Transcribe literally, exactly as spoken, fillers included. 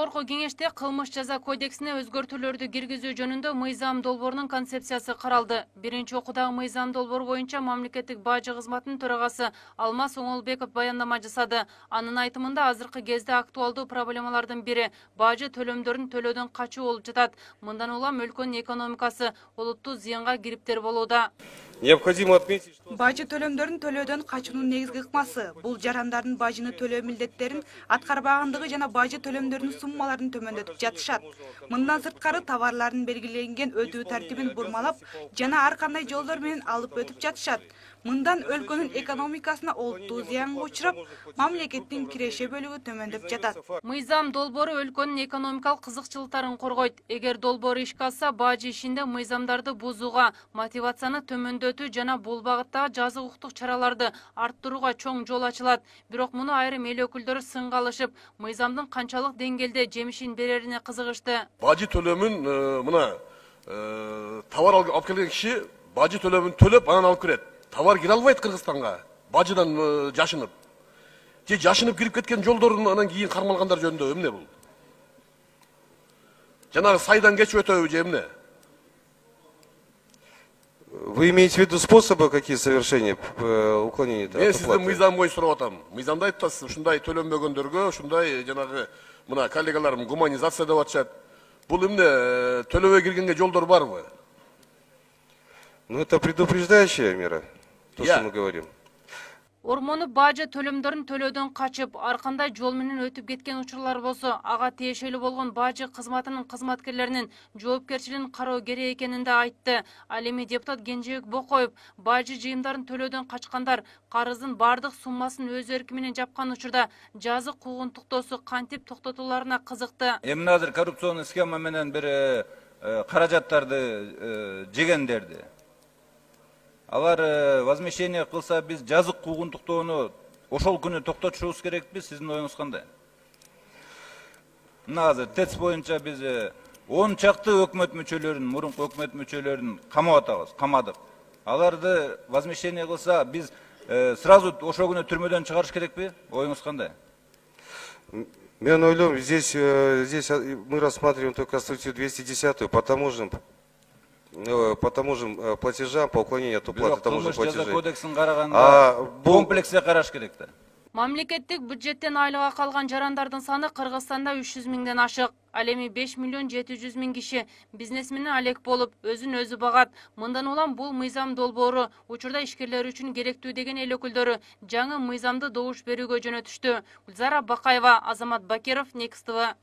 Жогорку кеңеште кылмыш жаза кодексине өзгөртүүлөрдү киргизүү жөнүндө мыйзам долбоорунун концепциясы каралды. Биринчи окуудагы мыйзам долбоору боюнча мамлекеттик бажы кызматынын төрагасы Алмаз Оңолбеков баяндама жасады. Анын айтымында азыркы кезде актуалдуу проблемалардын бири бажы төлөмдөрүн төлөөдөн качуу болуп жатат. Мындан улам өлкөнүн экономикасы олуттуу зыянга кириптер болууда. Необходимо отметить, что бажы төлөмдөрүн төлөөдөн качуунун негизги ыкмасы бул жарандардын бажыны төлөө милдеттерин аткарбагандыгы жана бажы төлөмдөрүнүн суммаларын төмөндөтүп жатышат. Мындан сырткары товарлардын белгиленген өтүү тартибин бурмалап жана ар кандай жолдор менен алып өтүп жатышат. Мындан өлкөнүн экономикасына олуттуу зыянга учурап, мамлекеттин киреше бөлүгү төмөндөп жатат. Мыйзам долбоору өлкөнүн экономикалык кызыкчылыктарын коргойт. Эгер долбоор ишке ашса, бажы ишинде мыйзамдарды бузууга, мотивацияны төмөндөтүү жана бул багыттагы жазык укуктук чараларды арттырууга чоң жол ачылат. Бирок муну айрым эл өкүлдөрү сынга алышып, мыйзамдын канчалык деңгээлде жемишин берерине кызыгышты. Бажы төлөмүн мына товар алып келген киши бажы төлөмүн төлөп анан алып кирет. Товар кире албайт Кыргызстанга, бажыдан жашынып. Же жашынып кирип кеткен жолдорун анан кийин кармалгандар жөнүндө эмне бул? Жанагы сайдан кечип өтөбү же эмне? вы имеете в виду способы какие совершения уклонения от оплаты? Мен сизден мыйзам боюнча сурап атам. Мыйзамда айтып атасыз, ушундай төлөнбөгөндөргө, ушундай жанагы мына коллегаларым гуманизация деп атышат. Бул эмне төлөбөй киргенге жолдор барбы? Ну это предупреждающая мера, то, что мы говорим. Ормону бажы төлөмдөрүн төлөөдөн качып, ар кандай жол менен өтүп кеткен учурлар болсо, ага тиешелүү болгон бажы кызматынын кызматкерлеринин жоопкерчилигин кароо керек экенин да айтты. Ал эми депутат Кенжебек Бокоев бажы жыйымдарын төлөөдөн качкандар карыздын бардык суммасын өз эрки менен жапкан учурда жазык куугун токтоосу кантип токтотуларына кызыкты. Эми азыр коррупционный схема менен бир каражаттарды жегендерди. Алар возмещение кылса, биз жазык куугун токтоону ошол күнү токтотушубуз керекпи? Сиздин оюңуз кандай? Мына азыр ТЭЦ боюнча биз он чакты өкмөт мүчөлөрүн, мурунку өкмөт мүчөлөрүн камап атабыз, камадык. Аларды возмещение кылса, биз сразу ошол күнү түрмөдөн чыгарыш керекпи? Оюңуз кандай? Мен ойлойм, здесь здесь мы рассматриваем только статью двести десятую по таможенным по таможенным платежам, по уклонению от уплаты таможенных платежей. Кодексин караганда комплексте караш керек да. Мамлекеттик бюджеттен айлыга калган жарандардын саны Кыргызстанда үч жүз миңден ашык. Ал эми беш миллион жети жүз миң киши бизнес менен алек болуп, өзүн өзү багат. Мындан улам бул мыйзам долбоору учурда ишкерлер үчүн керектүү деген эл өкүлдөрү жаңы мыйзамды добуш берүүгө жөнөтүштү. Гүлзара Бакаева, Азамат Бакиров, Next тэ вэ.